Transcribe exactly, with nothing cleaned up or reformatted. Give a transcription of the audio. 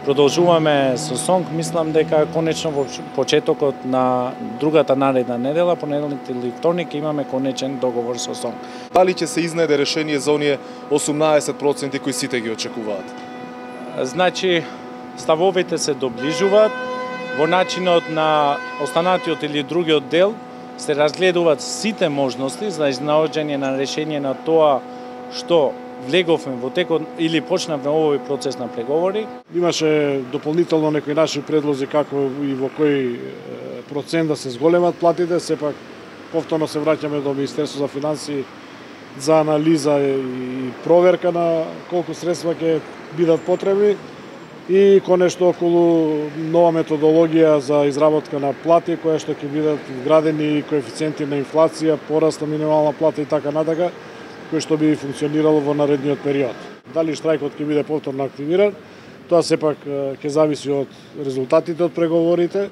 Продолжуваме со СОНК, мислам дека конечно во почетокот на другата наредна недела, понеделник или вторник, имаме конечен договор со СОНК. Дали ќе се изнајде решение за оние осумнаесет проценти кои сите ги очекуваат? Значи, ставовите се доближуваат, во начинот на останатиот или другиот дел се разгледуваат сите можности за изнаоѓање на решение на тоа што влеговме во текот или почнавме овој процес на преговори. Имаше дополнително некои наши предлози како и во кој процент да се зголемат платите, сепак повторно се враќаме до Министерство за финансии за анализа и проверка на колку средства ќе бидат потребни и конечно околу нова методологија за изработка на плати, која што ќе бидат вградени коефициенти на инфлација, пораст на минимална плата и така натака, кој што би функционирало во наредниот период. Дали штрајкот ќе биде повторно активиран, тоа сепак ќе зависи од резултатите од преговорите.